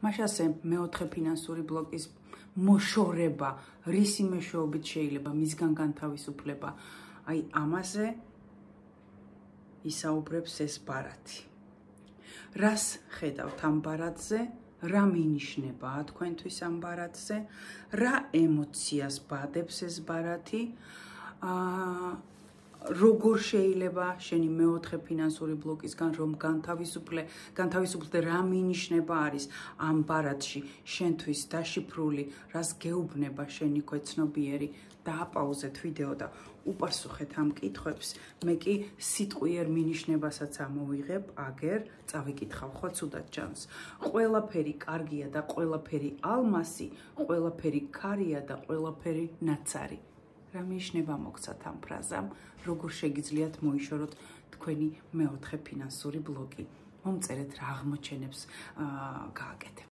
მაშასე მეოთხე ფინანსური ბლოკის მოშორება, რისი მეშვეობით შეიძლება მისგან განთავისუფლება. აი ამაზე ისაუბრებს ეს ბარათი. რას ხედავთ ამ ბარათზე? რა მინიშნებაა თქვენთვის ამ ბარათზე? რა ემოციას ბადებს ეს ბარათი? როგორ შეიძლება შენი მეოთხე ფინანსური ბლოკისგან რომ განთავისუფლდე, რა მინიშნება არის ამ ბარათში შენთვის დაშიფრული, რას გეუბნება შენი ქვეცნობიერი? დააპაუზეთ ვიდეო და უპასუხეთ ამ კითხვებს. მე კი სიტყვიერ მინიშნებასაც ამოვიღებ, აგერ წავიკითხავ ხო ცუდად ჯანს. ყველაფერი კარგია და ყველაფერი ალმასი, ყველაფერი ქარია და ყველაფერი ნაცარი. რა მინიშნება მოგცათ ამ ფრაზამ? როგორ შეგიძლიათ მოიშოროთ თქვენი მეოთხე ფინანსური ბლოკი? მომწერეთ რა აღმოჩენებს გააკეთებთ.